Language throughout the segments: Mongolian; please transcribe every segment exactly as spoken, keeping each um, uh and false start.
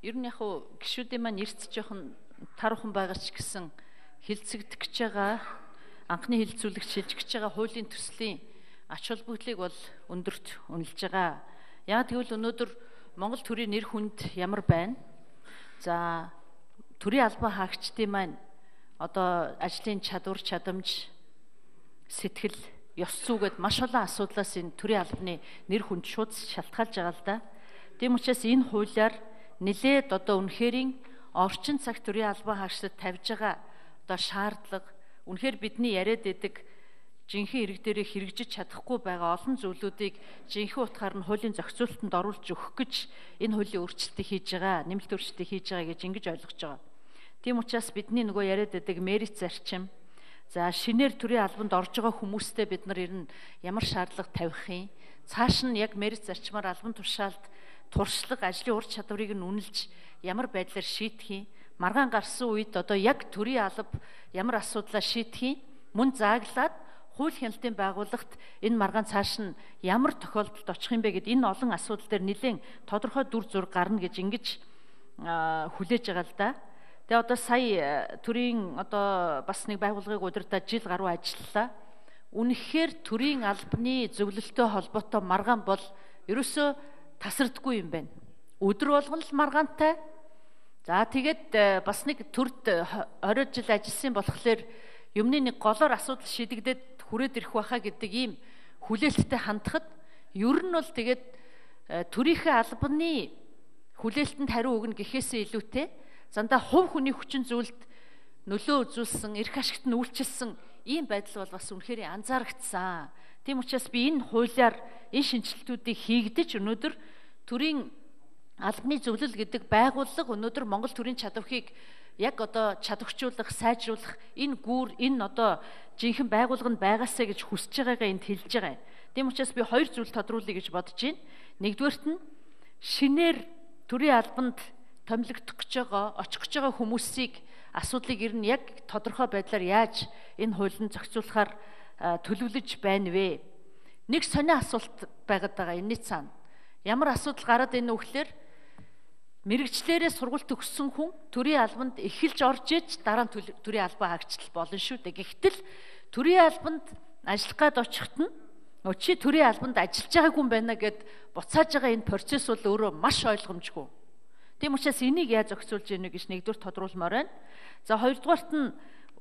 Ер нь яг хуу гişүүдийн маань эрт жоохон таруухан байгаа ч гэсэн хилцэгдэх гэж байгаа анхны хилцүүлэгч шилжих гэж байгаа хуулийн төслийн ач холбогдлыг бол өндөрт үнэлж байгаа. Яг тэгвэл өнөөдөр Монгол төрийн нэр хүнд ямар байна? За төрийн албан хаагчдын маань одоо ажлын чадвар, чадамж, сэтгэл, ёс зүйгээд маш олон асуудлаас энэ төрийн албаны нэр хүнд шууд шалтгаалж байгаа л да. Тийм учраас энэ хуулиар нэлээд одоо үнэхэрийн орчин цаг төрийн албан хаагчдад тавьж байгаа одоо шаардлага, үнэхээр бидний яриад байдаг жинхэнэ ирэг дээрээ хэрэгжиж чадахгүй байгаа олон зүйлүүдийг жинхэнэ утгаар нь хуулийн зохицуулалтанд оруулж өгөх гэж энэ хуулийн өөрчлөлтийг хийж байгаа, нэмэлт өөрчлөлтийг хийж байгаа гэж ингэж ойлгож байгаа. Тийм учраас бидний нөгөө яриад байдаг мерит зарчим, за шинээр төрийн албанд орж байгаа хүмүүстээ бид нар ер нь ямар шаардлага тавих юм, цааш нь яг мерит зарчмаар албан тушаалд туршлага, ажлын ур чадварыг нь үнэлж ямар байдлаар шийдэх юм, маргаан гарсан үед одоо яг төрийн алба ямар асуудлаа шийдэх юм, мөн зааглаад хууль хяналтын байгууллагт энэ маргаан цааш нь ямар тохиолдолд очих юм бэ гэд энэ олон асуудал дээр нэлээд тодорхой дүр зураг гарна гэж ингэж хүлээж байгаа л да. Тэгээ одоо сая төрийн одоо бас нэг байгууллагыг удирдах жил гаруй ажиллалаа. Үнэхээр төрийн албаны зөвлөлтөй холбоотой маргаан бол ерөөсөө тасардгүй юм байна. Өдөр болгон л маргаантай. За тэгээд бас нэг төрд орой жил ажилласан болохоор юмны нэг голоор асуудал шийдэгдээд хүрээд ирэх байхаа гэдэг ийм хүлээлттэй хандхад ер нь бол тэгээд төрийнхээ албаны хүлээлтэнд хариу өгнө гэхээсээ илүүтэй зандаа хувь хүний хүчин зүйлд нөлөө үзүүлсэн, эрх ашигт нь үйлчилсэн ийм байдал бол бас үнэхээр анзаарэгдсэн. Тийм учраас би энэ хуулиар энэ шинжилтүүдийг хийгдэж өнөөдөр төрийн албаны зөвлөл гэдэг байгууллага өнөөдөр Монгол төрийн чадвархийг яг одоо чадварчуулах, сайжруулах энэ гүүр, энэ одоо жинхэнэ байгууллага нь байгаасаа гэж хүсэж байгаагаа энд хэлж байгаа. Тийм учраас би хоёр зүйл тодруулъя гэж бодож байна. Нэгдүгээрт нь шинээр төрийн албанд томилогдох гэж байгаа, очих гэж байгаа хүмүүсийг асуудлыг ер нь яг тодорхой байдлаар яаж энэ хуулинд зохицуулахаар төлөвлөж байна вэ? Нэг сонио асуулт байгаад байгаа энэний цаана. Ямар асуудал гараад байна вэ гэхээр мэрэгчлэрээ сургалт төгссөн хүн төрийн албанд эхэлж орж иж дараа нь төрийн албан хаагчлал болно шүү дээ. Гэхдээ төрийн албанд ажиллах гээд очихт нь чи төрийн албанд ажиллаж байгаагүй юм байна гэд буцааж байгаа энэ процесс бол өөрөө маш ойлгомжгүй. Тийм учраас энийг яаж зохицуулж ийнэ гэж нэгдүгээр тодруулмаар байна. За хоёрдугаарт нь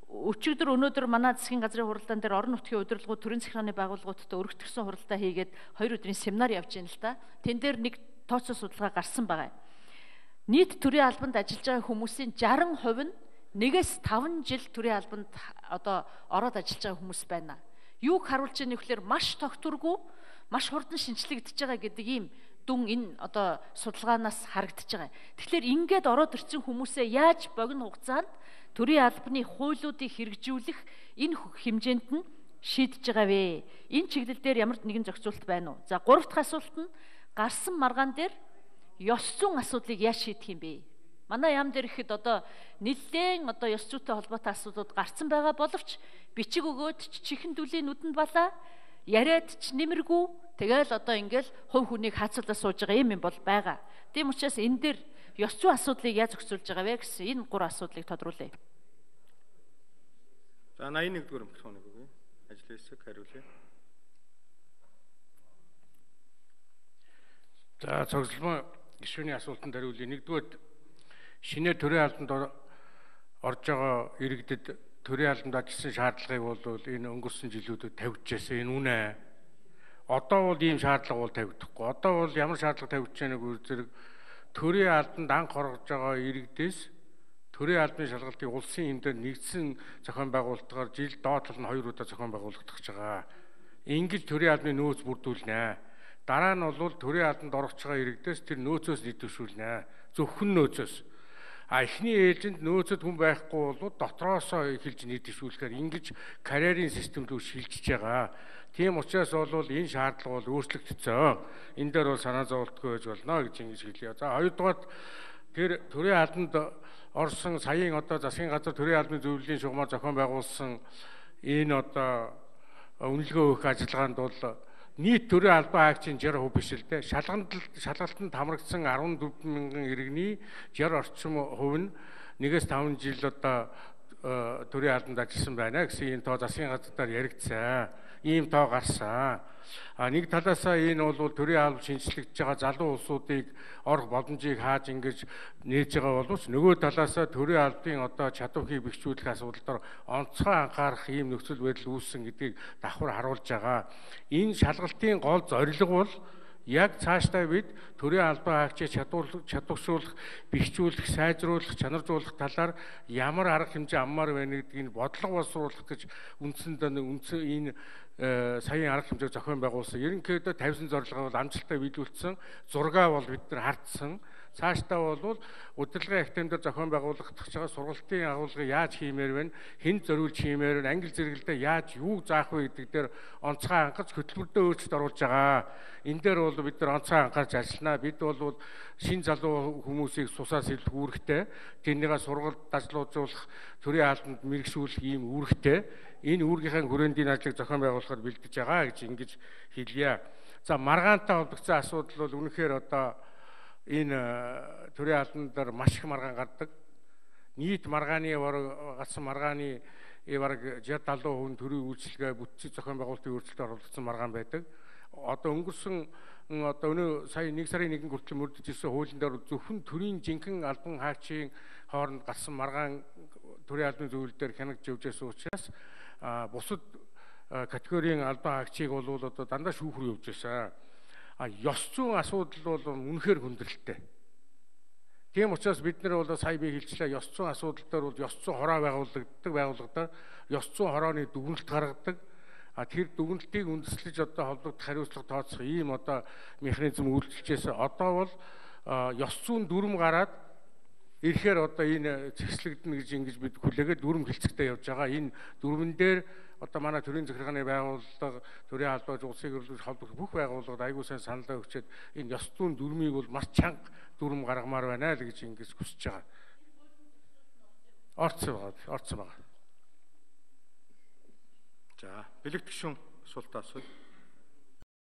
өчигдөр өнөөдөр манай засгийн газрын хуралдаан дээр орон нутгийн удирдлагууд, төрийн захиргааны байгууллагуудтай өргөтгсөн хуралдаа хийгээд хоёр өдрийн семинар явж байна л да. Тэн дээр нэг тооцоо судалгаа гарсан байгаа. Нийт төрийн албанд ажиллаж байгаа хүмүүсийн шаран хувь нь нэгээс таван жил төрийн албанд одоо ороод ажиллаж байгаа хүмүүс байна. Юуг харуулж байгаа нөхлөөр маш тогтворгүй, маш хурдан шинжлэгдэж байгаа гэдэг ийм дүн энэ одоо судалгаанаас харагдаж байгаа. Тэгэхээр ингээд ороод ирсэн хүмүүсээ яаж богино хугацаанд төрийн албаны хуулиудыг хэрэгжүүлэх энэ хэмжээнд нь шийдэж байгаа вэ? Энэ чиглэл дээр ямар нэгэн зохицуулалт байна уу? За гурав дахь асуулт нь гарсан маргаан дээр ёс зүйн асуудлыг яаж шийдэх юм бэ? Манай яам дээр ихэд одоо нэлээд одоо ёс зүйтэй холбоотой асуудлууд гарсан байгаа боловч бичиг өгөөд ч чихэн дүлийн нүдэнд балаа яриад ч нэмэргүй тэгэл одоо ингээл хувь хүнийг хаацуулаад сууж байгаа юм бол байгаа. Тийм учраас энэ дээр ёс зүйн асуудлыг яаж зохицуулж байгаа вэ гэсэн энэ гурван асуудлыг тодруулъя. За восемьдесят нэг дугаар микрофоныг өгье. Ажил хэсэг хариулъя. За цогцлон гишүүний асуултанд хариулъя. Нэгдүгээр шинээр төрийн албанд орж байгаа иргэдэд төрийн албанд ажилласан шаардлагыг бол энэ өнгөрсөн жилүүдэд тавьчихсан. Энэ үнэ. Одоо бол ийм шаардлага бол тавигдахгүй. Одоо бол ямар шаардлага тавьж байгааг үзэрэг төрийн албанд анх орж байгаа иргэдээс төрийн албаны шалгалтыг улсын хэмжээнд нэгдсэн зохион байгуулалтаар жил доотлол нь хоёр удаа зохион байгуулагдах гэж байгаа. Ингэж төрийн албаны нөөц бүрдүүлнэ. Дараа нь бол төрийн албанд орж байгаа иргэдээс тэр нөөцөөс нийтвшүүлнэ. Зөвхөн нөөцөөс. А эхний ээлжинд нөөцөд хүн байхгүй бол дотроосоо эхэлж нийтвшүүлэхээр ингэж карьерийн систем рүү шилжиж байгаа. Тийм учраас бол энэ шаардлага бол өөрчлөгдсөн. Энэ дээр бол санаа зовлтгүй байж болно гэж ингэж хэлье. За хоёрдугаар тэр төрийн албанд орсон саяын одоо засгийн газар төрийн албаны зөвлөлийн шугамаар зохион байгуулсан энэ одоо үнэлгээ өгөх ажиллагаанд бол нийт төрийн албан хаагчийн жир хувь биш л дээ. Шалгалтанд шалгалтанд хамрагдсан арван дөрвөн мянган иргэний жир орчим хувь нь нэгээс таван жил одоо төрийн албанд ажилласан байна гэсэн энэ тоо засгийн газар дээр яригдсан. Ийм тоо гарсан. А нэг талаасаа энэ бол төрийн алба шинжлэгдэж байгаа залуу улсуудыг орох боломжийг хааж ингэж нээж байгаа боловч нөгөө талаасаа төрийн албын одоо чадварыг бэхжүүлэх асуудал дээр онцгой анхаарах ийм нөхцөл байдал үүссэн гэдгийг давхар харуулж байгаа. Энэ шалгалтын гол зорилго бол яг цаашдаа бид төрийн албан хаагчийг чадваршуулах, бэхжүүлэх, сайжруулах, чанаржуулах талаар ямар арга хэмжээ аммаар байна гэдгийг бодлого боловсруулах гэж үндсэндээ үндсэн энэ саяын арга хэмжээг зохион байгуулсан. Ерөнхийдөө тавьсан зорилгоо бол амжилттай биелүүлсэн. Зургаа бол бид нар хартсан. Цаашдаа бол удирдлагын ахтемдэр зохион байгуулагдах байгаа сургалтын агуулгыг яаж хиймээр байна, хэн зориулж хиймээр байна, англи зэрэгэлдээ яаж юу заах вэ гэдэг дээр онцгой хангаж хөтөлбөртөө өөрчлөлт оруулж байгаа. Энэ дээр бол бид нар онцгой анхаарч ажиллана. Бид бол шин залуу хүмүүсийг сусаас илүү үүрэгтэй, тэрнийгээ сургалт дажлуулжуулах, төрийн албанд мэрэгшүүлэх ийм үүрэгтэй. Энэ үүргийнхээ хүрээндийн ажлыг зохион байгуулахад бэлдэж байгаа гэж ингэж хэлье. За маргаантай холбогдсон асуудал бол үнэхээр одоо энэ төрийн албан дээр маш их маргаан гардаг. Нийт маргааны гацсан маргааны бараг шийдэл залуу хүн төрийн үйлчилгээ бүтцийн зохион байгуулалтын өөрчлөлтөөр оролцсон маргаан байдаг. Одоо өнгөрсөн одоо өнөө сая нэг сарын нэгэн хүртэл мөрдөж ирсэн хуулийн дээр зөвхөн төрийн жинхэнэ албан хаагчийн хооронд гарсан маргаан төрийн албаны зөвлөл дээр хянагч явжсэн учраас бусад категорийн албан хаагчийг бол одоо дандаа шүүхрүү явж байсан. А ёс зүйн асуудал бол үнэхээр хүндрэлтэй. Тийм учраас бид нар бол сая би хэлчихлээ ёс зүйн асуудал дээр бол ёс зүйн хороо байгуулагддаг байгууллагадаар ёс зүйн хорооны дүгнэлт гаргадаг. А тэр дүгнэлтийг үндэслэж одоо холбогдох хариуцлага тооцох ийм одоо механизм үйлчилжээс одоо бол ёс зүйн дүрм гараад ирэхээр одоо энэ зэвслэгдэнэ гэж ингэж бид хүлээгээд дүрм хэлцэгтэй явж байгаа. Энэ дүрмэн дээр одоо манай төрийн захиргааны байгууллага, төрийн албан улсын хурлын холбогдох бүх байгууллагад аягүй сайн саналаа өгчөөд энэ ёс зүйн дүрмийг бол маш чанга дүрм гаргамаар байна л гэж ингэж хүсэж байгаа. Орцсон байгаа. Орцсон байгаа. За, бэлэг тгшүүн асуултаа асууя.